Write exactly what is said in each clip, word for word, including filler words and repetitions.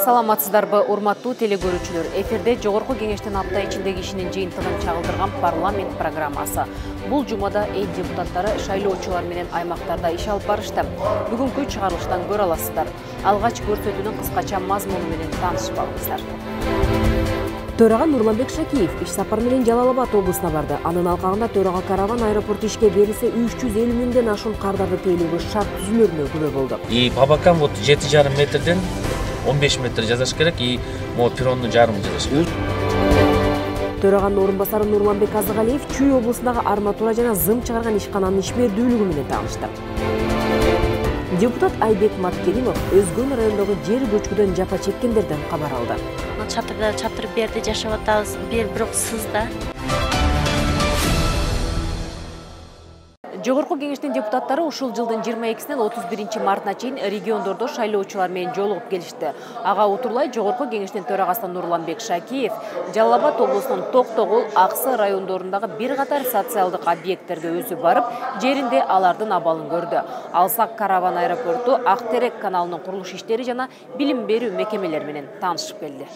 Саламатсыздарбы, урматтуу телекөрүүчүлөр. Эфирде Жогорку Кеңештин апта ичиндеги ишинин жыйынтыгын чагылдырган парламент программасы. Бул жумада эл депутаттары шайлоочулар менен аймактарда иш алып барышты. Бүгүнкү чыгарылыштан көрө аласыздар. Алгач көрсөтүүнүн кыскача мазмуну менен таанышып алыңыздар. Төрага Нурланбек Шакиев иш сапар менен Жалал Абад облусуна барды. Анын алкагында төрага караван аэропорту ишке берилсе үч жүз элүү миңден ашуун кардарды тейлөөгө шарт түзүлөрүнө күбө болду. И по бокам вот жети жарым метрден он беш метр жасаш керек, и могу перронну жарым жасаш керек. Төраганын орун басары Нурланбек Азыгалиев Чүй облусундагы арматура жана зым чыгарган ишкананын ишмердүүлүгү менен таанышты. Депутат Айбек Маткеримов Өзгөн районундагы жер көчкүдөн жапа чеккендерден кабар алды. Чатырда чатыр берди жашап атабыз, бир бирок сызда. Жогорку Кеңештин депутаттары ушул жылдын жыйырма экисинен отуз биринчи мартына чейин региондордо шайлоочулар менен жолугуп келишти. Ага утурлай Жогорку Кеңештин төрагасы Нурланбек Шакиев Жалал Абад облусунун Токтогул, Аксы райондорундагы бир катар социалдык объекттерге өзү барып, жеринде алардын абалын көрдү. Алсак караван аэропорту, Ак Терек каналынын курулуш иштери жана билим берүү мекемелери менен таанышып келди.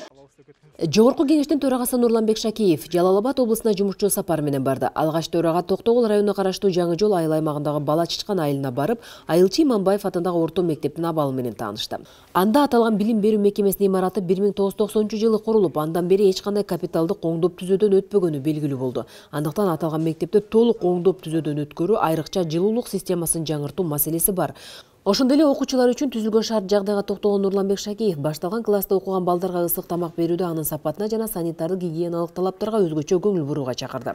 Жогорку Кеңештин төрагасы Нурланбек Шакиев Жалал Абад облусуна жумушчу сапар менен барды. Алгач төрага Токтогул районуна караштуу Жаңы Жол айыл аймагындагы Бала Чычкан айылына барып, Айылчы Иманбаев атындагы орто мектептин абалы менен таанышты. Анда аталган билим берүү мекемесинин имараты бир миң тогуз жүз токсонунчу жылы курулуп, андан бери эч кандай капиталдык оңдоп түзөөдөн өтпөгөнү белгилүү болду. Андыктан аталган мектепти толук оңдоп түзөөдөн өткөрүү, айрыкча жылуулук системасын жаңыртуу маселеси бар. Ошондой эле окуучулар үчүн түзүлгөн шарт жагдайга токтогон Нурланбек Шакиев башталган класста окуган балдарга ысык тамак берүүдө анын сапатына жана санитардык гигиеналык талаптарга өзгөчө көңүл бурууга чакырды.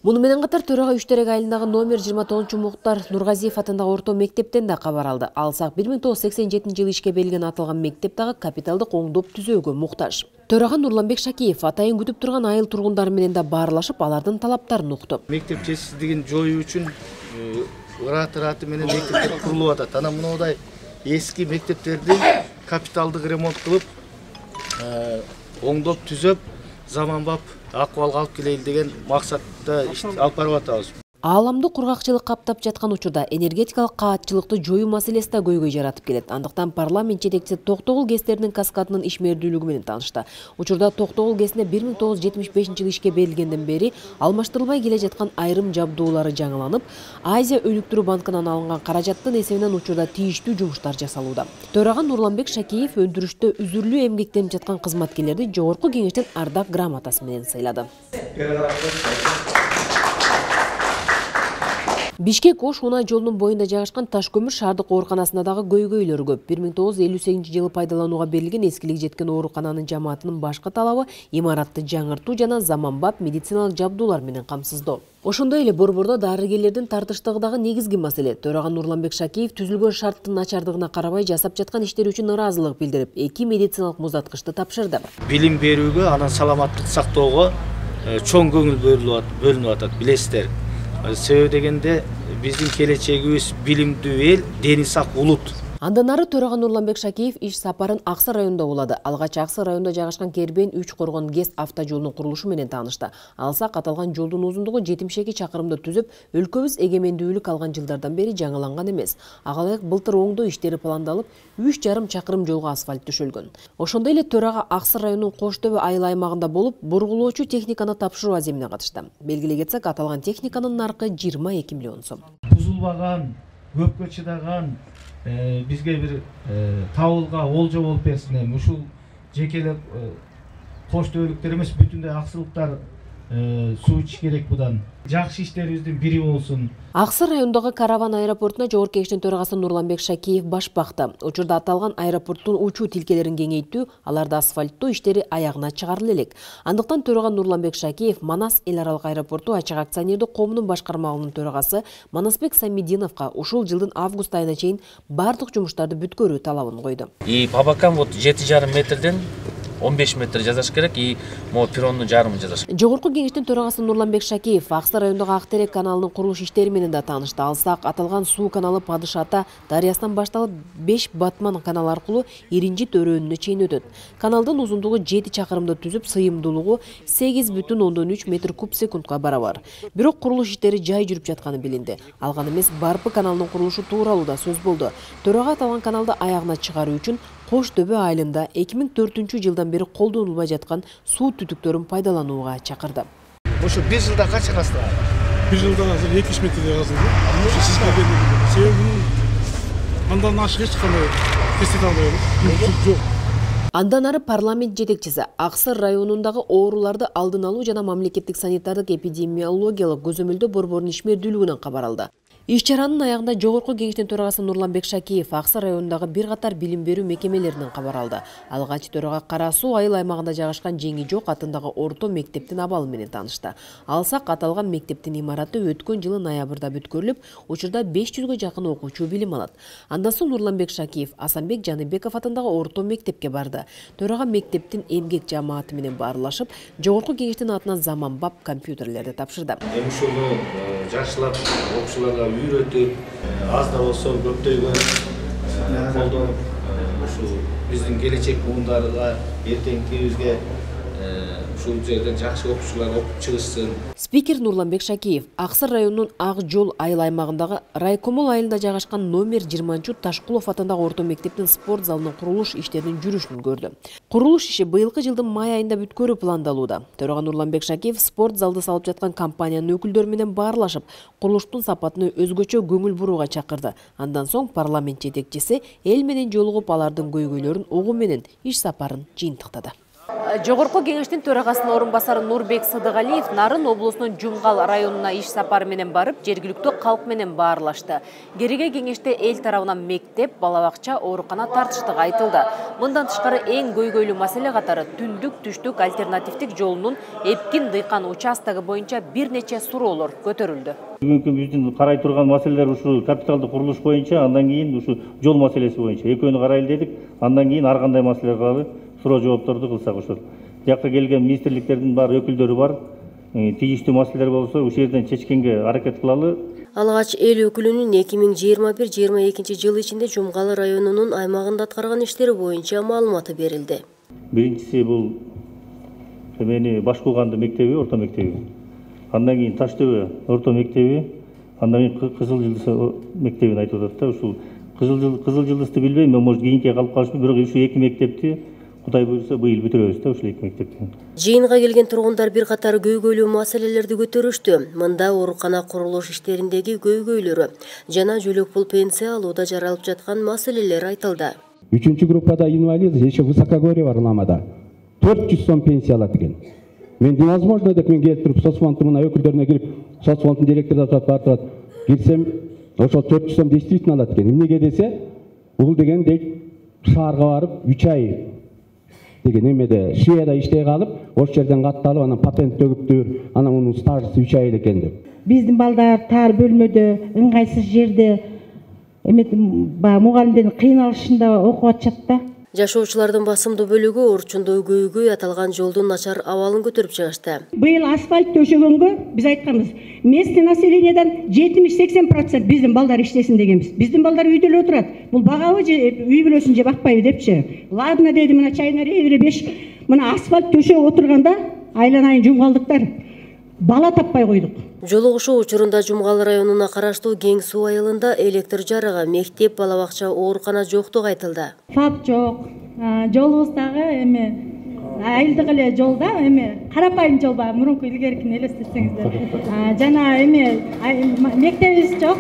Муну менен катар төрага Үчтерек айылындагы номер жыйырма тогузунчу Муктар Нургазиев атындагы орто мектептен да кабар алды. Алсак бир миң тогуз жүз сексен жетинчи жылы ишке берилген аталган мектеп дагы капиталдык оңдоп түзөөгө муктаж. Төрага Нурланбек Шакиев атайын күтүп турган айыл тургундары менен да баарлашып, алардын талаптарын укту. Мектеп жетишсиздигин жоюу үчүн ыраты-ыраты менен мектептер курулуп атат. Анан мындай эски мектептерди капиталдык ремонт кылып, оңдоп түзөп, заманбап акыбалга алып келели деген максатта иш алып барып атабыз. Ааламды кургакчылык каптап жаткан учурда энергетикалык каатчылыкты жоюу маселеси да көйгөй жаратып келет. Андыктан парламент жетекчиси Токтогул ГЭСтеринин каскадынын ишмердүүлүгү менен таанышты. Учурда Токтогул ГЭСине бир миң тогуз жүз жетимиш бешинчи жылы ишке берилгенден бери алмаштырылбай келе жаткан айрым жабдуулары жаңыланып, Азия өнүктүрүү банкынан алынган каражаттын эсебинен учурда тийиштүү жумуштар жасалууда. Төрага Нурланбек Шакиев өндүрүштө үзүрлүү эмгектенип жаткан кызматкерлерди Жогорку Кеңештин ардак грамотасы менен сыйлады. Бишкек Ош унай жолунун боюнда жайгашкан Ташкөмүр шаардык ооруканасында дагы көйгөйлөр көп. бир миң тогуз жүз элүү сегизинчи жылы пайдаланууга берилген эскилиги жеткен оорукананын жамаатынын башкы талабы имаратты жаңыртуу жана заманбап медициналык жабдуулар менен камсыздоо. Ошондой эле борбордо дарыгерлердин тартыштыгы дагы негизги маселе. Төрага Нурланбек Шакиев түзүлгөн шарттын начардыгына карабай жасап жаткан иштери үчүн ыраазылык билдирип, эки медициналык муздаткычты тапшырды. Билим берүүгө, анан саламаттык сактоого чоң көңүл бөлүнүп атат, билесиздер. Себеби дегенде биздин келечегибиз билимдүү эл, дени сак улут. Андан ары төрага Нурланбек Шакиев иш сапарын Аксы районунда улады. Алгач Аксы районунда жайгашкан Кербен үч коргон ГЭС автожолунун курулушу менен таанышты. Алсак аталган жолдун узундугу жетимиш эки чакырымды түзүп, өлкөбүз эгемендүүлүк алган жылдардан бери жаңыланган эмес. Ага ылайык былтыр оңдоо иштери пландалып, үч жарым чакырым жолго асфальт төшөлгөн. Ошондой эле төрага Аксы районунун Кош Төбө айыл аймагында болуп, бургулоочу техниканы тапшыруу аземине катышты. Белгилей кетсек, аталган техниканын наркы жыйырма эки миллион сом. Бузулбаган, көпкө чыдаган бизге бир табылга олжо болуп берсин. Эми ушул жекелеп Кош Төбөлүктөр эмес, бүтүндөй аксылыктар суу ичиш керек будан. Жакшы иштерибиздин бири болсун. Аксы районундагы караван аэропортуна Жогорку Кеңештин төрагасы Нурланбек Шакиев баш бакты. Учурда аталган аэропорттун учуу тилкелерин кеңейтүү, аларды асфальттоо иштери аягына чыгарыла элек. Андыктан төрага Нурланбек Шакиев Манас эл аралык аэропорту ачык акционердик коомунун башкармалыгынын төрагасы Манасбек Самидиновго ушул жылдын август айына чейин бардык жумуштарды бүткөрүү талабын койду. И по бокам вот жети жарым метрден он беш метр жасаш керек и могу перронну жарымын жасаш. Жогорку кеңештин төрагасы Нурланбек Шакиев Аксы районундагы Ак терек каналынын курулуш иштери менен да таанышты. Алсак аталган суу каналы Падыш ата дарыясынан башталып беш Батман каналы аркылуу Иринжит өрөөнүнө чейин өтөт. Каналдын узундугу жети чакырымды түзүп, сыйымдуулугу сегиз бүтүн ондон үч метр куб секундка барабар. Бирок курулуш иштери жай жүрүп жатканы билинди. Ал гана эмес, Барпы каналынын курулушу тууралуу да сөз болду. Төрага аталган каналды аягына чыгаруу үчүн Кош Төбө айылында эки миң төртүнчү жылдан бери колдонулбай жаткан суу түтүктөрүн пайдаланууга чакырды. Ошо бир жылда канча казды? бир жылда азыр жетимиш метрдей казылды. Сиз келгендер. Себеби андан ашык эч кандай кесет албайбыз. Жок. Андан ары парламент жетекчиси Аксы районундагы ооруларды алдын алуу жана мамлекеттик санитардык эпидемиологиялык көзөмөлдөө борборунун ишмердүүлүгүнөн кабар алды. Иш-чаранын аягында Жогорку кеңештин төрагасы Нурланбек Шакиев Аксы районундагы бир катар билим берүү мекемелеринен кабар алды. Алгач төрага Кара суу айыл аймагында жайгашкан Жеңи Жок атындагы орто мектептин абалы менен таанышты. Алсак аталган мектептин имараты өткөн жылы ноябрда бүткөрүлүп, учурда беш жүзгө жакын окуучу билим алат. Андан соң Нурланбек Шакиев Асанбек Жаныбеков атындагы орто мектепке барды. Төрага мектептин эмгек жамааты менен баарлашып, Жогорку кеңештин атынан заманбап компьютерлерди тапшырды. Ушуну жакшылап окуучуларга үйрөтүп, аз да болсо көптөгөн колдонуп, ушу биздин келечек буундарга, эртеңкибизге ушул жерден жакшы окуучулар окуп чыгышсын. Спикер Нурланбек Шакиев Аксы районунун Ак жол айыл аймагындагы Райкомол айылында жайгашкан номер жыйырманчы Ташкулов атындагы орто мектептин спорт залынын курулуш иштеринин жүрүшүн көрдү. Курулуш иши быйылкы жылдын май айында бүткөрүү пландалууда. Төрага Нурланбек Шакиев спорт залды салып жаткан компаниянын өкүлдөрү менен баарлашып, курулуштун сапатына өзгөчө көңүл бурууга чакырды. Андан соң парламент жетекчиси эл менен жолугуп, алардын көйгөйлөрүн угуу менен иш сапарын жыйынтыктады. Жогорку кеңештин төрагасынын орун басары Нурбек Сыдыгалиев Нарын облусунун Жумгал районуна иш сапары менен барып, жергиликтүү калк менен баарлашты. Кереге кеңеште эл тарабынан мектеп, бала бакча, оорукана тартыштыгы айтылды. Мындан тышкары эң көйгөйлүү маселе катары түндүк-түштүк альтернативдик жолунун Эпкин дыйкан участогу боюнча бир нече суроолор көтөрүлдү. Бүгүнкү биздин карай турган маселелер ушу капиталдык курулуш боюнча, андан кийин ушу жол маселеси боюнча экөөнү карайлы дедик. Андан кийин ар кандай маселелер калды. Суроо жоопторду кылсак ошол. Жакка келген министрликтердин бар өкүлдөрү бар. Тийиштүү маселелер болсо ушул жерден чечкенге аракет кылалы. Алгач эл өкүлүнүн эки миң жыйырма бир жыйырма экинчи жыл ичинде Жумгал районунун аймагында аткарган иштери боюнча маалыматы берилди. Биринчиси бул эмени Башкулганды мектеби, орто мектеби. Андан кийин Таштөбө орто мектеби, андан кийин Кызыл Жылдыз мектебин айтып атат да. Ушул Кызыл Жылдызды билбейм, мен может кийинки калып калышмын, бирок ушу эки мектепти Кудай буйруса быйыл бүтүрөбүз да ушул эки мектепти. Жыйынга келген тургундар бир катар көйгөйлүү маселелерди көтөрүштү. Мында оорукана курулуш иштериндеги көйгөйлөрү жана жөлөк пул пенсия алууда жаралып жаткан маселелер айтылды. Үчүнчү группада инвалид, еще высокогорье бар Ламада. төрт жүз сом пенсия алат экен. Мен невозможно деп мен келип туруп соцфонддун мына өкүлдөрүнө кирип, соцфонддун директору да бар турат. Кирсем, ошол төрт жүз сом действительно алат экен. Эмнеге десе, бул деген дейт шаарга барып үч ай деген эмеде Швейцарияда иштей калып, ошол жерден катталып, анан патент төгүптүр, анан мунун стажысы үч ай экен деп. Биздин балдар тар бөлмөдө, ыңгайсыз жерде эме мугалимдердин кыйналышында окуп атышат да. Жашоочулардын басымдуу бөлүгү орчундуу көйгөй аталган жолдун начар абалын көтөрүп чыгышты. Быйыл асфальт төшөгөнгө биз айтканбыз, местный населениядан жетимиш сексен процент биздин балдар иштесин дегенбиз. Биздин балдар үйдө эле отурат. Бул багабы же үй бүлөсүн же бакпайбы депчи. Ладно деди, мына чайына ревире беш, мына асфальт төшөп отурганда айланайын жумгалдыктар бала таппай койдук. Жолугушуу учурунда Жумгал районуна караштуу Кең суу айылында электр жарыгы, мектеп, бала бакча, оорукана жоктугу айтылды. Фап жок, жолубуздагы эме айылдык эле жолда эме карапайым жол бар, мурунку илгеркини элестетсеңиздер. Жана эме мектебибиз жок.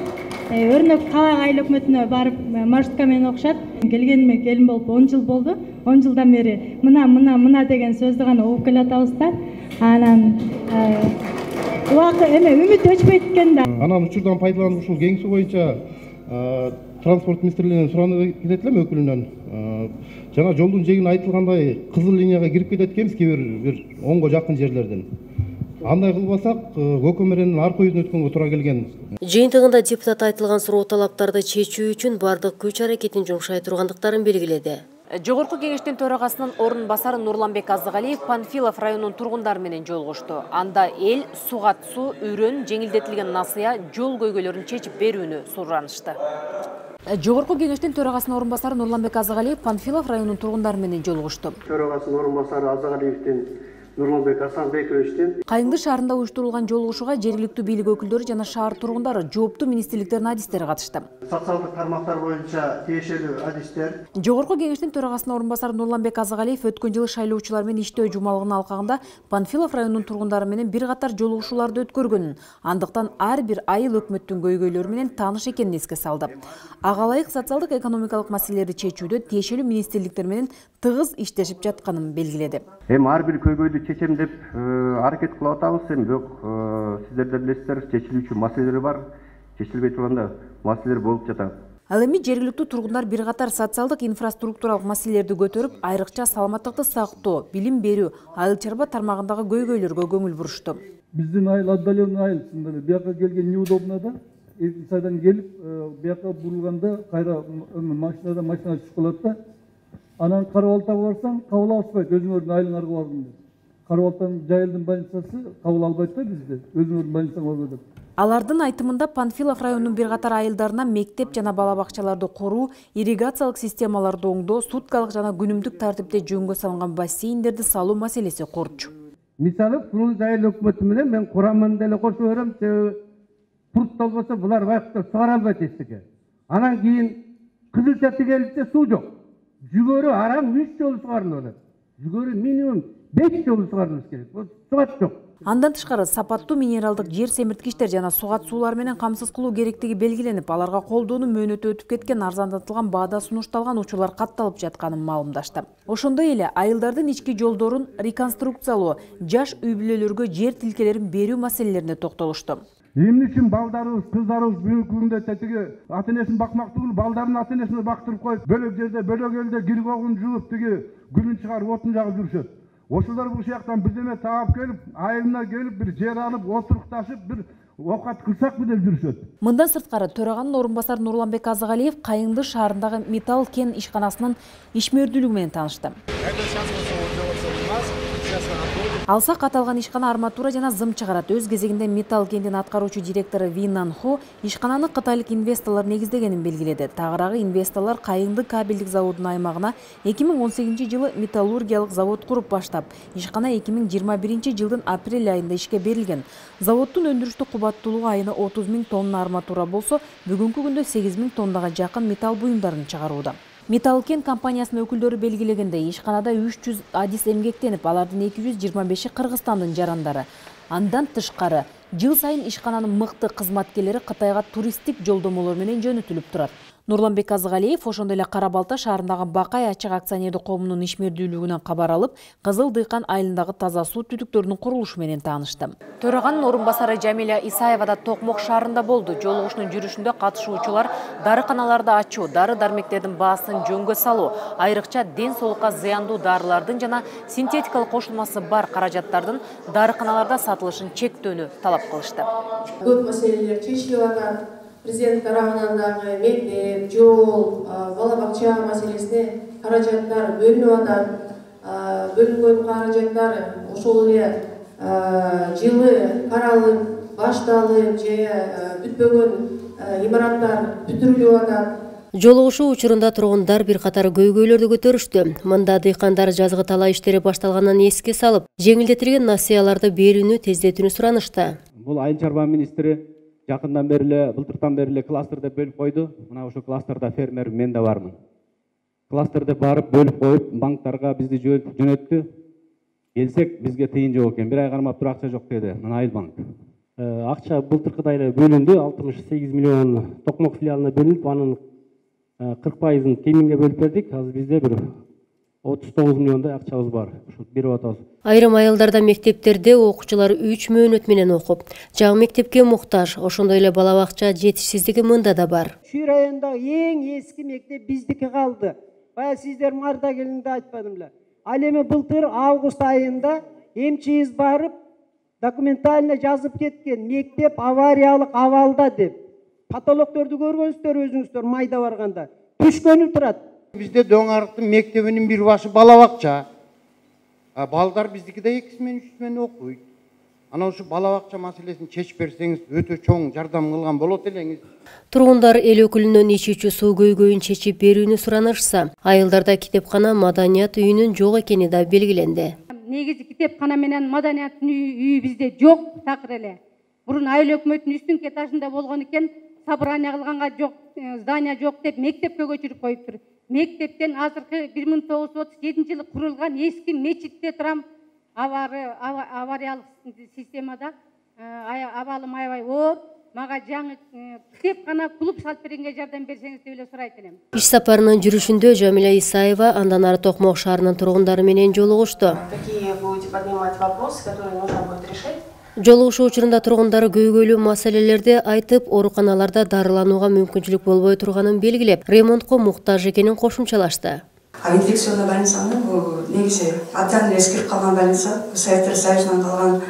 Өрнөк кабак айыл өкмөтүнө барып маршрутка менен окушат. Келгениме келин болуп он жыл болду. он жылдан бери мына мына мына деген сөздү гана угуп келатабыз да. Анан убакыт эме үмүт өчпөйт экен да. Анан учурдан пайдаланып ушул Кең суу боюнча транспорт министрлигинен суранып кетет элем өкүлүнөн. Жана жолдун жегин айтылгандай кызыл линияга кирип кетет экенбиз кээ бир бир онго жакын жерлерден. Андай кылбасак көкөмөрөнүн арка үйүнө өткөнгө туура келген. Жыйынтыгында депутат айтылган суроо талаптарды чечүү үчүн бардык күч аракетин жумшай тургандыктарын белгиледи. Жогорку кеңештин төрагасынын орун басары Нурланбек Азыгалиев Панфилов районунун тургундары менен жолугушту. Анда эл сугат суу, үрөн, жеңилдетилген насыя, жол көйгөйлөрүн чечип берүүнү суранышты. Жогорку кеңештин төрагасынын орун басары Нурланбек Азыгалиев Панфилов районунун тургундары менен жолугушту. Төрагасынын орун басары Азыгалиевдин Нурланбек Асанбековичтин Кайыңды шаарында уюштурулган жолугушууга жергиликтүү бийлик өкүлдөрү жана шаар тургундары, жооптуу министрликтердин адистери катышты. Социалдык тармактар боюнча тиешелүү адистер. Жогорку кеңештин төрагасынын орун басары Нурланбек Азыгалиев өткөн жылы шайлоочулар менен иштөө жумалыгынын алкагында Панфилов районунун тургундары менен бир катар жолугушууларды өткөргөнүн, андыктан ар бир айыл өкмөттүн көйгөйлөрү менен тааныш экенин эске салды. Ага ылайык социалдык экономикалык маселелерди чечүүдө тиешелүү министрликтер менен тыгыз иштешип жатканын белгиледи. Эми ар бир көйгөйдү чечем деп аракет кылып атабыз, эми бирок сиздер да билесиздер, чечилүүчү маселелер бар, чечилбей турган да маселелер болуп жатат. Ал эми жергиликтүү тургундар бир катар социалдык инфраструктуралык маселелерди көтөрүп, айрыкча саламаттыкты сактоо, билим берүү, айыл чарба тармагындагы көйгөйлөргө көңүл бурушту. Биздин айыл отдаленный айыл, бияка келген неудобно да, сайдан келип, бияка бурулганда кайра машинадан машина түшүп калат да, анан Карабалтага барсаң, кабыл алышпайт, өзүңөрдүн айылыңарга бардым деп. Карабалтан жайылдын больницасы кабыл албайт да бизди, өзүңөрдүн больницаңа баргыла деп. Алардын айтымында Панфилов районунун бир катар айылдарына мектеп жана бала бакчаларды куруу, ирригациялык системаларды оңдоо, суткалык жана күнүмдүк тартипте жөнгө салынган бассейндерди салуу маселеси корчу. Мисалы, Фрунзе айыл өкмөтү менен мен курамын деле кошуп берем, себеби пурт болбосо булар байкуттар сугара албайт эчтеке. Анан кийин Кызылча тигелипте суу жок. Жүгөрү араң үч жолу сугарылып атат. Жүгөрү минимум беш жолу сугарылыш керек. Сугат жок. Андан тышкары сапаттуу минералдык жер семирткичтер жана сугат суулар менен камсыз кылуу керектиги белгиленип, аларга колдоону мөөнөтү өтүп кеткен, арзандатылган баада сунушталган учурлар катталып жатканын маалымдашты. Ошондой эле айылдардын ички жолдорун реконструкциялоо, жаш үй бүлөлөргө жер тилкелерин берүү маселелерине токтолушту. Эмне үчүн балдарыбыз, кыздарыбыз бүгүнкү күндө тетиги ата энесин бакмак түгүл, балдарын ата энесине бактырып коюп, бөлөк жерде, бөлөк элде киргогун жууп, тиги гүлүн чыгарып, отун жагып жүрүшөт. Ошолор бул жактан бирдеме таап келип, айылына келип, бир жер алып, отурукташып, бир оокат кылсакпы деп жүрүшөт. Мындан сырткары төраганын орун басары Нурланбек Азыгалиев Кайыңды шаарындагы металл кен ишканасынын ишмердүүлүгү менен таанышты. Алсак аталган ишкана арматура жана зым чыгарат. Өз кезегинде металл кендин аткаруучу директору Винан Хо ишкананы кытайлык инвесторлор негиздегенин белгиледи. Тагыраагы инвесторлор Кайыңды кабелдик заводунун аймагына эки миң он сегизинчи жылы металлургиялык завод куруп баштап, ишкана эки миң жыйырма биринчи жылдын апрель айында ишке берилген. Заводдун өндүрүштүк кубаттуулугу айына отуз миң тонна арматура болсо, бүгүнкү күндө сегиз миң тоннага жакын металл буюмдарын чыгарууда. Металл кен компаниясынын өкүлдөрү белгилегендей, ишканада үч жүз адис эмгектенип, алардын эки жүз жыйырма беши Кыргызстандын жарандары. Андан тышкары, жыл сайын ишкананын мыкты кызматкерлери Кытайга туристтик жолдомолор менен жөнөтүлүп турат. Нурланбек Азыгалиев ошондой эле Кара Балта шаарындагы Бакай ачык акционердик коомунун ишмердүүлүгүнөн кабар алып, Кызыл Дыйкан айылындагы таза суу түтүктөрүнүн курулушу менен таанышты. Төраганын орун басары Жамиля Исаева да Токмок шаарында болду. Жолугушуунун жүрүшүндө катышуучулар дарыканаларды ачуу, дары-дармектердин баасын жөнгө салуу, айрыкча ден соолукка зыяндуу дарылардын жана синтетикалык кошулмасы бар каражаттардын дарыканаларда сатылышын чектөөнү талап кылышты. Көп маселелер чечилип атат. Президент тарабынан дагы мектеп, жол, бала бакча маселесине каражаттар бөлүнүп атат. Бөлүнгөн каражаттар ошол эле жылы каралып, башталып, же бүтпөгөн имараттар бүтүрүлүп атат. Жолугушуу учурунда тургундар бир катар көйгөйлөрдү көтөрүштү. Мында дыйкандар жазгы талаа иштери башталганын эске салып, жеңилдетилген насыяларды берүүнү тездетүүнү суранышты. Бул айыл чарба министри жакындан бери эле, былтыртан бери эле кластер деп бөлүп койду. Мына ошо кластерда фермер мен да бармын. Кластерде барып бөлүп коюп, банктарга бизди жөнөттү. Келсек, бизге тыйын жок экен. Бир ай кармап туруп акча жок деди. Мына Айыл банк. Акча былтыркыдай эле бөлүндү. алтымыш сегиз миллион Токмок филиалына бөлүнүп, анын кырк пайызын Кеминге бөлүп бердик. Азыр бизде бир отуз тогуз миллиондай акчабыз бар. Ушул берип атабыз. Айрым айылдарда мектептерде окуучулар үч мөөнөт менен окуп, жаңы мектепке муктаж, ошондой эле бала бакча жетишсиздиги мында да бар. Чүй районундагы эң эски мектеп биздики калды. Бая сиздер марта келинде айтпадым эле. Ал эми былтыр август айында МЧС барып, документально жазып кеткен, мектеп авариялык абалда деп. Потолокторду көргөнсүздөр өзүңүздөр майда барганда. Түшкөнү турат. Бизде Дөң Арыктын мектебинин бир башы бала бакча. Балдар биздикиде экиси менен үчүсү менен окуйт. Ana ошо бала бакча маселесин чечип берсеңиз өтө чоң жардам кылган болот элеңиз. Тургундар эл өкүлүнөн ичүүчү суу көйгөйүн чечип берүүнү суранышса, айылдарда китепкана, маданият үйүнүн жок экени да белгиленди. Негизи китепкана менен маданият үйү бизде жок такыр эле. Мурун айыл өкмөттүн үстүнкү этажында болгон экен, собрание кылганга жок, здание жок деп мектепке көчүрүп коюптур. Мектептен азыркы бир миң тогуз жүз отуз жетинчи жылы курулган эски мечитте турам. Авариялык системада абалым аябай оор. Мага жаңы китепкана, клуб салып бергенге жардам берсеңиз деп эле сурайт элем. Иш сапарынын жүрүшүндө Жамиля Исаева андан ары Токмок шаарынын тургундары менен жолугушту. Какие будете поднимать вопросы, которые нужно будет решить? Жолугушуу учурунда тургундары көйгөйлүү маселелерди айтып, ооруканаларда дарыланууга мүмкүнчүлүк болбой турганын белгилеп, ремонтко муктаж экенин кошумчалашты. А инфекционный больницаны бул негизи абдан эскирип калган больница, Советтер Союзунан калган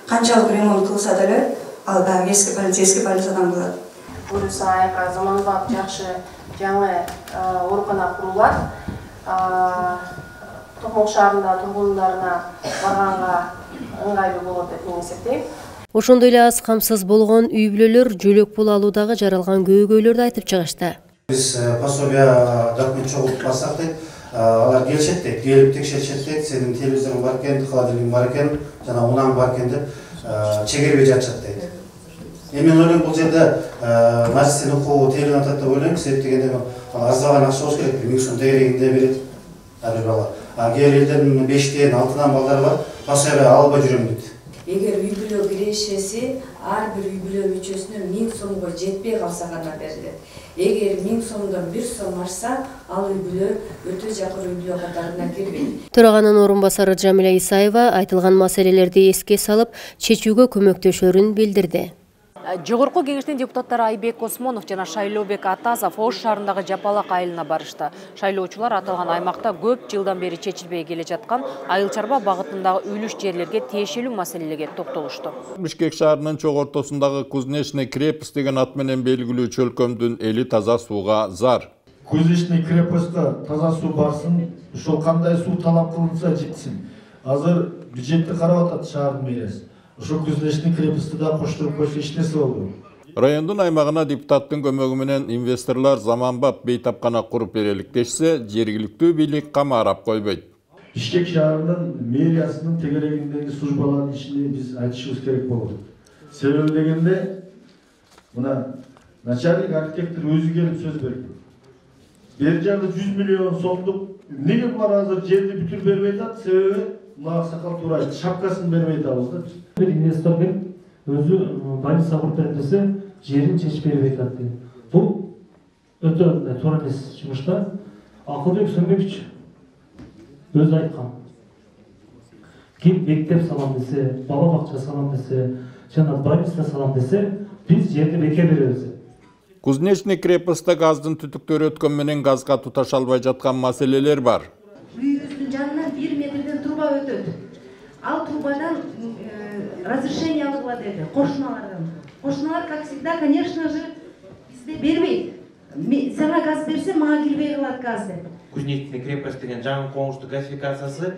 канчалык ремонт кылса деле, ал дагы эски больница, эски больницадан калат. Буюрса айка заманбап жакшы жаңы оорукана курулат. Токмок шаарында тургундарына барганга ыңгайлуу болот деп мен эсептейм. Ошондой эле аз камсыз болгон үй бүлөлөр жөлөк пул алуудагы жаралган көйгөйлөрдү айтып чыгышты. Биз пособия документ чогултуп алсак дейт, алар келишет дейт, келип текшеришет дейт, сенин телевизоруң бар экен, холодильник бар экен, жана унаң бар экен деп чегербей жатышат дейт. Эми мен ойлойм, бул жерде мажлистин укугу тейлин атат деп ойлойм, себеп дегенде арзабаган акча болуш керек, миң сом тегерегинде берет ар бир бала. А кээ бир элдердин бештен, алтыдан балдары бар, пособия албай жүрөм дейт. Эгер үй бүлө кирешеси ар бир үй бүлө мүчөсүнө миң сомго жетпей калса гана берилет. Эгер миң сомдон бир сом ашса, ал үй бүлө өтө жакыр үй бүлө катарына кирбейт. Төраганын орун басары Жамиля Исаева айтылган маселелерди эске салып, чечүүгө көмөктөшөрүн билдирди. Жогорку кеңештин депутаттары Айбек Осмонов жана Шайлообек Атазов Ош шаарындагы Жапалак айылына барышты. Шайлоочулар аталган аймакта көп жылдан бери чечилбей келе жаткан айыл чарба багытындагы үлүш жерлерге тиешелүү маселелерге токтолушту. Бишкек шаарынын чок ортосундагы Кузнечный крепость деген ат менен белгилүү чөлкөмдүн эли таза сууга зар. Кузнечный крепостьта таза суу барсын, ошол кандай суу талап кылынса жетсин. Азыр бюджетти карап атат шаардын мэриясы. Ошо Кузнечный крепостьти да коштуруп койсо эч нерсе болбойт. Райондун аймагына депутаттын көмөгү менен инвесторлор заманбап бейтапкана куруп берелик дешсе, жергиликтүү бийлик камарап койбойт. Бишкек шаарынын мэриясынын тегерегиндеги службалардын ишине биз айтышыбыз керек болот. Себеби дегенде, мына начальник архитектор өзү келип сөз берди. Бер жагы жүз миллион сомдук эмнеге булар азыр жерди бүтүрүп бербей атат? Себеби мына аксакал туура айтты, шапкасын бербей атабыз да. Бир инвестор келип өзү больница куруп берем десе, жерин чечип бербей атат дейт. Бул өтө туура эмес жумушта. Акылбек Сөнбекович өзү айткан. Ким мектеп салам десе, бала бакча салам десе, жана больница салам десе, биз жерди бекер беребиз. Кузнечный крепостьта газдын түтүктөрү өткөн менен газга туташа албай жаткан маселелер бар. Үйүбүздүн жанынан бир метрден труба өтөт. Ал трубадан разрешение алгыла деди кошуналардан. Кошуналар, как всегда, конечно же, бизде бербейт. Сага газ берсе, мага кирбей калат газ деп. Кузнечный крепость деген жаңы коңушту газификациясы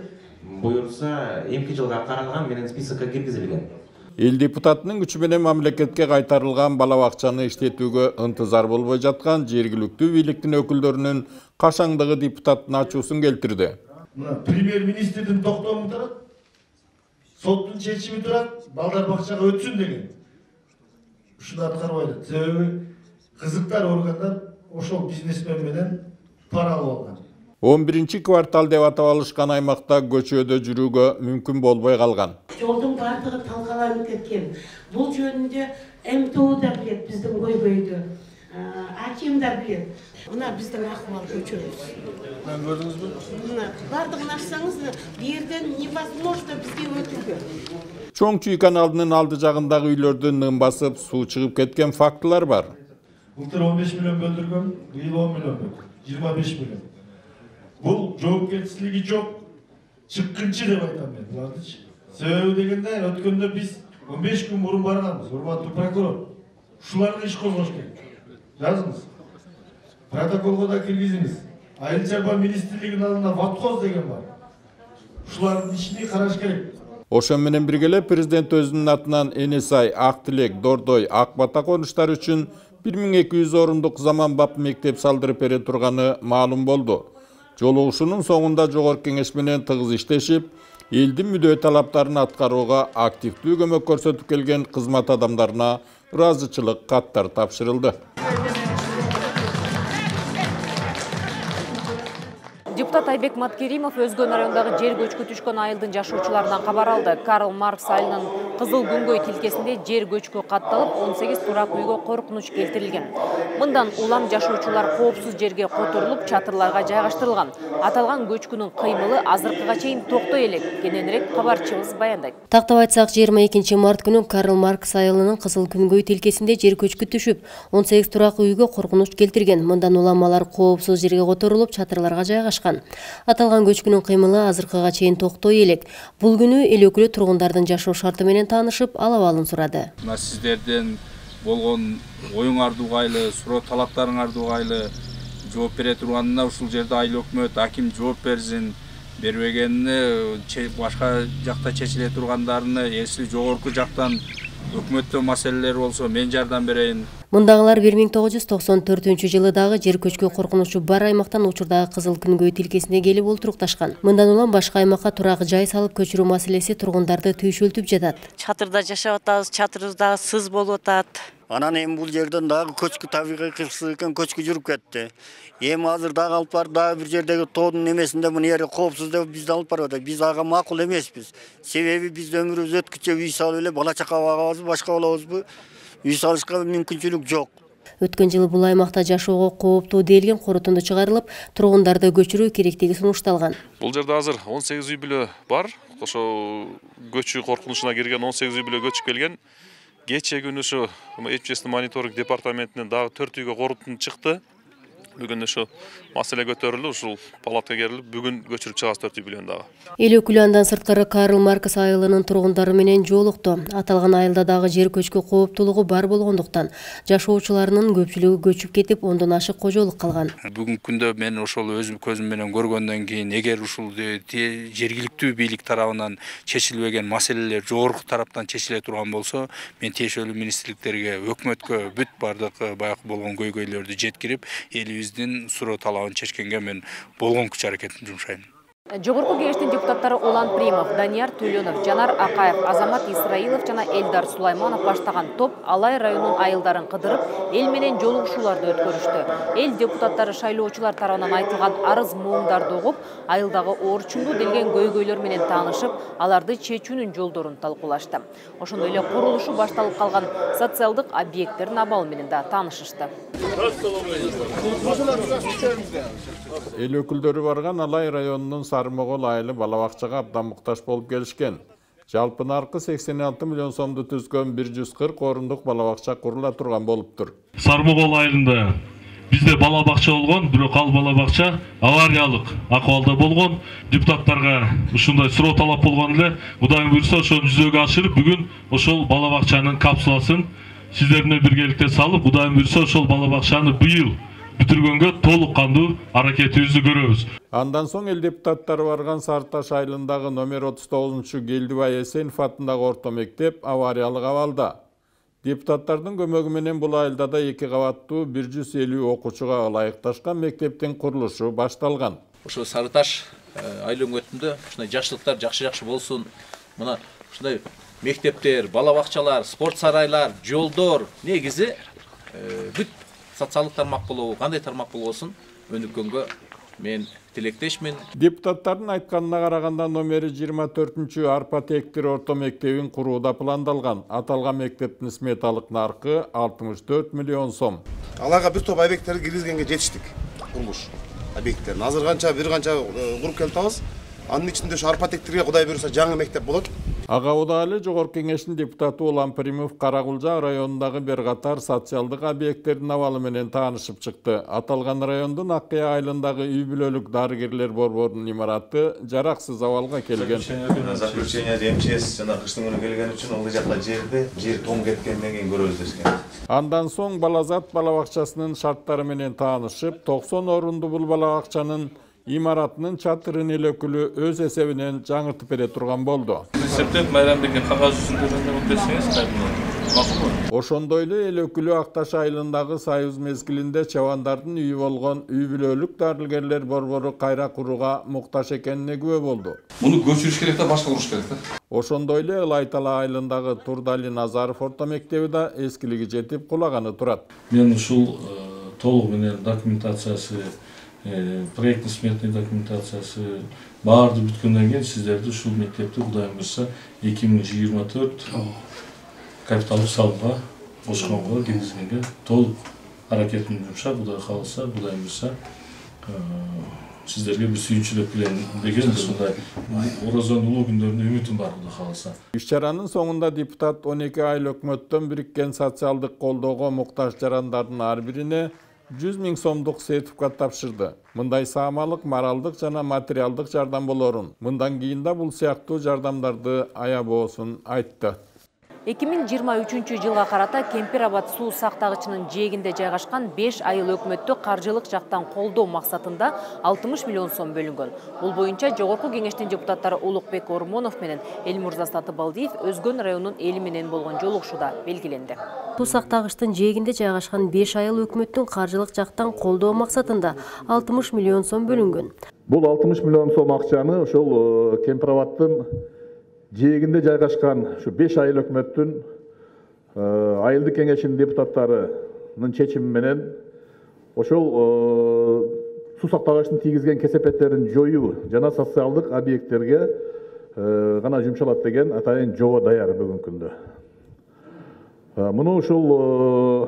буюрса эки жылга каралган менен списокко киргизилген. Эл депутатынын күчү менен мамлекетке кайтарылган бала бакчаны иштетүүгө ынтызар болбой жаткан жергиликтүү бийликтин өкүлдөрүнүн кашаңдыгы депутаттын ачуусун келтирди. Премьер-министрдин токтому турат, соттун чечими турат, балдар бакчага өтсүн деген. Ушуну аткарбай атат. Себеби кызыктар органдар ошол бизнесмен менен пара алып алган. он биринчи квартал деп атап алышкан аймакта көчөдө жүрүүгө мүмкүн болбой калган. Жолдун бардыгы талкаланып кеткен. Бул жөнүндө эм тэ о да билет биздин көйгөйдү. Аким да билет. Мына биздин акыбал көчөбүз. Мен көрдүңүзбү? Мына бардыгын ачсаңыз, бу жерден невозможно бизге өтүүгө. Чоң Чүй каналынын алды жагындагы үйлөрдү нын басып, суу чыгып кеткен фактылар бар. Былтыр он беш миллион бөлдүргөн, быйыл он миллион бөлдүр, жыйырма беш миллион. Бул жоопкерчилиги жок, чыккынчы деп айтам мен булардычы. Себеби дегенде өткөндө биз он беш күн мурун барганбыз, урматтуу прокурор. Ушуларга иш козгош керек. Жазыңыз. Протоколго да киргизиңиз. Айыл чарба министрлигинин алдында ватхоз деген бар. Ушулардын ишини караш керек. Ошон менен бирге эле президент өзүнүн атынан Энесай, Ак Тилек, Дордой, Ак Бата конуштары үчүн бир миң эки жүз орундук заманбап мектеп салдырып бере турганы маалым болду. Жолугушуунун соңунда Жогорку Кеңеш менен тыгыз иштешип, элдин мүдөө талаптарын аткарууга активдүү көмөк көрсөтүп келген кызмат адамдарына ыраазычылык каттар тапшырылды. Депутат Айбек Маткеримов Өзгөн районундагы жер көчкү түшкөн айылдын жашоочуларынан кабар алды. Карл Маркс айылынын Кызыл күнгөй тилкесинде жер көчкү катталып, он сегиз турак үйгө коркунуч келтирилген. Мындан улам жашоочулар коопсуз жерге которулуп, чатырларга жайгаштырылган. Аталган көчкүнүн кыймылы азыркыга чейин токтой элек. Кененирээк кабарчыбыз баяндайт. Тактап айтсак, жыйырма экинчи март күнү Карл Маркс айылынын Кызыл күнгөй тилкесинде жер көчкү түшүп, он сегиз турак үйгө коркунуч келтирген. Мындан улам алар коопсуз жерге которулуп, чатырларга жайгашкан. Аталган көчкүнүн кыймылы азыркыга чейин токтой элек. Бул күнү эл өкүлү тургундардын жашоо шарты менен таанышып, алабалын сурады. Мына сиздерден болгон оюңарды угайлы, суроо талаптарыңарды угайлы жооп бере турганына ушул жерде айыл өкмөт, аким жооп берсин. Бербегенине башка жакта чечиле тургандарыны эсли жогорку жактан өкмөттө маселелер болсо мен жардам берейин. Мындагылар бир миң тогуз жүз токсон төртүнчү жылы дагы жер көчкү коркунучу бар аймактан учурдагы Кызыл күнгөй тилкесине келип олтурукташкан. Мындан улам башка аймакка турак жай салып көчүрүү маселеси тургундарды түйшөлтүп жатат. Чатырда жашап атабыз, чатырыбызда сыз болуп атат. Анан эми бул жерден дагы көчкү табигый кырсык экен, көчкү жүрүп кетти. Эми азыр дагы алып барып дагы бир жердеги тоодун немесинде муну жери коопсуз деп бизди алып барып атат. Биз ага макул эмеспиз. Себеби биз өмүрүбүз өткүчө үй салып эле бала чака багабызбы, башка болобузбу? Үй салышка мүмкүнчүлүк жок. Өткөн жылы бул аймакта жашоого кооптуу делген корутунду чыгарылып, тургундарды көчүрүү керектиги сунушталган. Бул жерде азыр он сегиз үй бүлө бар. Ошо көчүү коркунучуна кирген он сегиз үй бүлө көчүп келген. Кече күнү ушу Эпчестин мониторинг департаментинен дагы төрт үйгө корутунду чыкты. Бүгүн ушу маселе көтөрүлүп, ушул палатка керилип, бүгүн көчүрүп чыгабыз төрт үй бүлөнү дагы. Эл өкүлү андан сырткары Карл Маркс айылынын тургундары менен жолукту. Аталган айылда дагы жер көчкү кооптуулугу бар болгондуктан жашоочуларынын көпчүлүгү көчүп кетип, ондон ашык кожолук калган. Бүгүнкү күндө мен ошол өзүм көзүм менен көргөндөн кийин, эгер ушул жергиликтүү бийлик тарабынан чечилбеген маселелер жогорку тараптан чечиле турган болсо, мен тиешелүү министрликтерге, өкмөткө бүт бардык баягы болгон көйгөйлөрдү жеткирип, элибиз суроо талабын чечкенге мен болгон күч аракетимди жумшайм. Жогорку Кеңештин депутаттары Улан Примов, Данияр Төлөнов, Жанар Акаев, Азамат Исраилов жана Элдар Сулайманов баштаган топ Алай районунун айылдарын кыдырып, эл менен жолугушууларды өткөрүштү. Эл депутаттары шайлоочулар тарабынан айтылган арыз муумдарды угуп, айылдагы оорчундуу делген көйгөйлөр менен таанышып, аларды чечүүнүн жолдорун талкуулашты. Ошондой эле курулушу башталып калган социалдык объекттердин абалы менен да таанышышты. Эл өкүлдөрү барган Алай районунун Сармогол айылы бала бакчага абдан муктаж болуп келишкен. Жалпы наркы сексен алты миллион сомду түзгөн бир жүз кырк орундук бала бакча курула турган болуптур. Сармогол айылында бизде бала бакча болгон, бирок ал бала бакча авариялык акыбалда болгон. Депутаттарга ушундай суроо талап болгон эле, Кудайым буйрса ошону жүзөгө ашырып, бүгүн ошол бала бакчанын капсуласын сиздер менен биргеликте салып, Кудайым буйрса ошол бала бакчаны быйыл бүтүргөнгө толук кандуу аракетибизди көрөбүз. Андан соң эл депутаттары барган Сарташ айылындагы номер отуз тогузунчу Келдибай Эсенов атындагы орто мектеп авариялык абалда. Депутаттардын көмөгү менен бул айылда да эки кабаттуу бир жүз элүү окуучуга ылайыкташкан мектептин курулушу башталган. Ошо Сарташ айыл өңгөтүндө ушундай жакшылыктар жакшы-жакшы болсун. Мына ушундай мектептер, бала бакчалар, спорт сарайлар, жолдор негизи бүт социалдык тармак болобу, кандай тармак болбосун өнүккөнгө мен тилектешмин. Депутаттардын айтканына караганда номери жыйырма төртүнчү Арпа Тектир орто мектебин курууда пландалган. Аталган мектептин сметалык наркы алтымыш төрт миллион сом. Аларга бир топ объекттерди киргизгенге жетиштик. Курулуш объекттерин. Азыр канча бир канча куруп келатабыз. Анын ичинде ушу Арпа Тектирге Кудай буйрса жаңы мектеп болот. Ага Удали Жогорку Кеңештин депутаты Улан Примов Каракулжа районундагы бир катар социалдык объекттердин абалы менен таанышып чыкты. Аталган райондун Аккая айылындагы үй бүлөлүк дарыгерлер борборунун имараты жараксыз абалга келген. Заключение МЧС жана кыштын күнү келген үчүн ылдый жакта жерди жер тоң кеткенден кийин көрөбүз дешкен. Андан соң Балазат бала бакчасынын шарттары менен таанышып, токсон орунду бул бала бакчанын имаратынын чатырын эле өкүлү өз эсебинен жаңыртып бере турган болду. Септеп Майрамбекке кагаз жүзүндө берсеңиз макулбу? Ошондой эле эл өкүлү Ак Таш айылындагы Союз мезгилинде чабандардын үйү болгон үй бүлөлүк дарыгерлер борбору кайра курууга муктаж экенине күбө болду. Муну көчүрүш керек да, башка куруш керек да. Ошондой эле Ылайтала айылындагы Турдали Назаров орто мектеби да эскилиги жетип кулаганы турат. Мен ушул толук менен документациясы, проектный сметный документациясы баарды бүткөндөн кийин сиздерди ушул мектепти Кудайым буйрса эки миң жыйырма төрт капиталдык салымга кошконго киргизгенге толук аракетин жумшап, Кудай кааласа, Кудайым буйрса сиздерге бир сүйүнчүлүк билем деген ушундай Оразонун улуу күндөрүнө үмүтүм бар, Кудай кааласа. Иш-чаранын соңунда депутат он эки айыл өкмөттөн бириккен социалдык колдоого муктаж жарандардын ар бирине жүз миң сомдук сертификат тапшырды. Мындай саамалык, моралдык жана материалдык жардам болорун, мындан кийин да бул сыяктуу жардамдарды аябоосун айтты. эки миң жыйырма үчүнчү жылга карата Кемпир Абад суу сактагычынын жээгинде жайгашкан беш айыл өкмөттү каржылык жактан колдоо максатында алтымыш миллион сом бөлүнгөн. Бул боюнча Жогорку Кеңештин депутаттары Улукбек Ормонов менен Элмурза Сатыбалдиев Өзгөн районунун эли менен болгон жолугушууда белгиленди. Суу сактагычтын жээгинде жайгашкан беш айыл өкмөттүн каржылык жактан колдоо максатында алтымыш миллион сом бөлүнгөн. Бул алтымыш миллион сом акчаны ошол Кемпир Абадтын жээгинде жайгашкан ушу беш айыл өкмөттүн айылдык кеңешинин депутаттарынын чечими менен ошол суу сактагычтын тийгизген кесепеттерин жоюу жана социалдык объекттерге гана жумшалат деген атайын жобо даяр бүгүнкү күндө. Муну ушул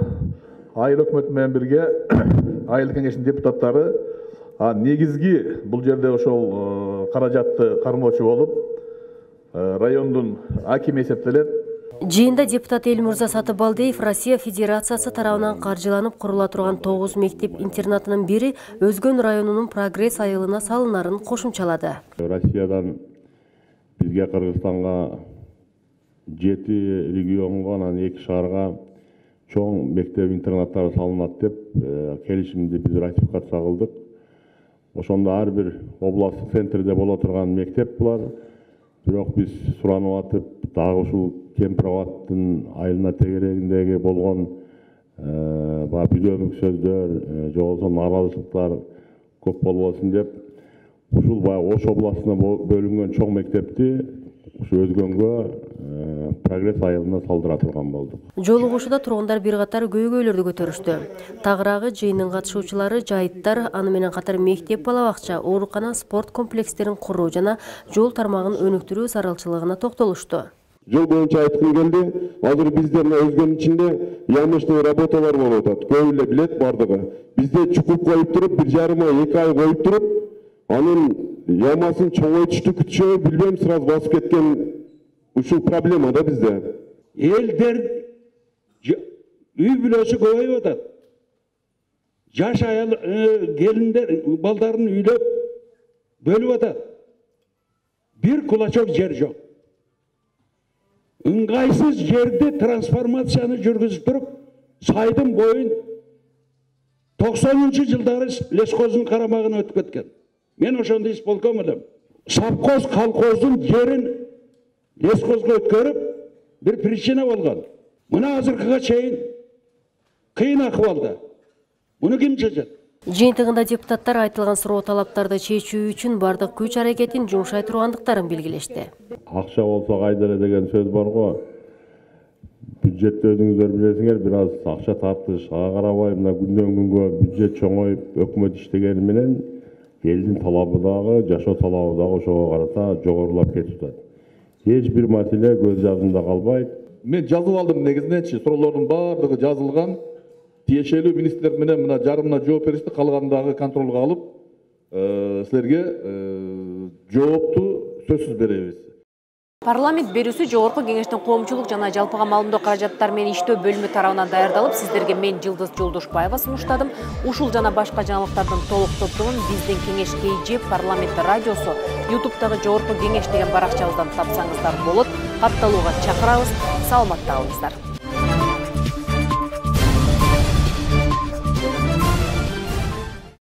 айыл өкмөтү менен бирге айылдык кеңештин депутаттары негизги бул жерде ошол каражатты кармоочу болуп райондун акими эсептелет. Жыйында депутат Элмурза Сатыбалдиев Россия Федерациясы тарабынан каржыланып курула турган тогуз мектеп-интернатынын бири Өзгөн районунун Прогресс айылына салынарын кошумчалады. Россиядан бизге Кыргызстанга жети регионго, анан эки шаарга чоң мектеп-интернаттар салынат деп келишимди биз ратификация кылдык. Ошондо ар бир областтык центрде боло турган мектеп булар. Бирок биз суранып атып, дагы ушул Кемпир Абадтын айылына тегерегиндеги болгон баягы бүдөмүк сөздөр, же болбосо нааразычылыктар көп болбосун деп, ушул баягы Ош областына бөлүнгөн чоң мектепти ушу Өзгөнгө Прогресс айылына салдыра турган болдук. Жолугушууда тургундар бир катар көйгөйлөрдү көтөрүштү. Тагыраагы жыйындын катышуучулары жайыттар, аны менен катар мектеп, бала бакча, оорукана, спорт комплекстерин куруу жана жол тармагын өнүктүрүү зарылчылыгына токтолушту. Жол боюнча айткым келди. Азыр биздин Өзгөнүн ичинде ямочный работалар болуп атат. Көп эле билет бардыгы. Бизде чукуп коюп туруп, бир жарым ай, эки ай коюп туруп, анын ямасын чоңойтушту күтүшөбү билбейм, сразу басып кеткен ушул проблема да бизде. Элдер үй бүлөсү көбөйүп атат. Жаш аял келиндер балдарын үйлөп бөлүп атат. Бир кулачок жер жок. Ыңгайсыз жерде трансформацияны жүргүзүп туруп, сайдын боюн токсонунчу жылдары лесхоздун карамагына өтүп кеткен. Мен ошондо исполком элем. Совхоз колхоздун жерин лесхозго өткөрүп, бир причина болгон. Мына азыркыга чейин кыйын акыбалда. Муну ким чечет? Жыйынтыгында депутаттар айтылган суроо талаптарды чечүү үчүн бардык күч аракетин жумшай тургандыктарын белгилешти. Акча болсо кайда эле деген сөз бар го. Бюджетти өзүңүздөр билесиңер, бир аз акча тартыш, ага карабай мына күндөн күнгө бюджет чоңоюп, өкмөт иштегени менен элдин талабы дагы, жашоо талабы дагы ошого карата жогорулап кетип атат. Эч бир маселе көз жадымда калбайт. Мен жазып алдым негизиненчи, суроолордун баардыгы жазылган. Тиешелүү министрлер менен мына жарымына жооп беришти, калгандагы контролго алып, силерге жоопту сөзсүз беребиз. Парламент берүүсү Жогорку Кеңештин коомчулук жана жалпыга маалымдоо каражаттары менен иштөө бөлүмү тарабынан даярдалып, сиздерге мен Жылдыз Жолдошбаева сунуштадым. Ушул жана башка жаңылыктардын толук топтомун биздин Кеңеш КЖ парламент радиосу ютубтагы Жогорку Кеңеш деген баракчабыздан тапсаңыздар болот. Катталууга чакырабыз. Саламатта калыңыздар.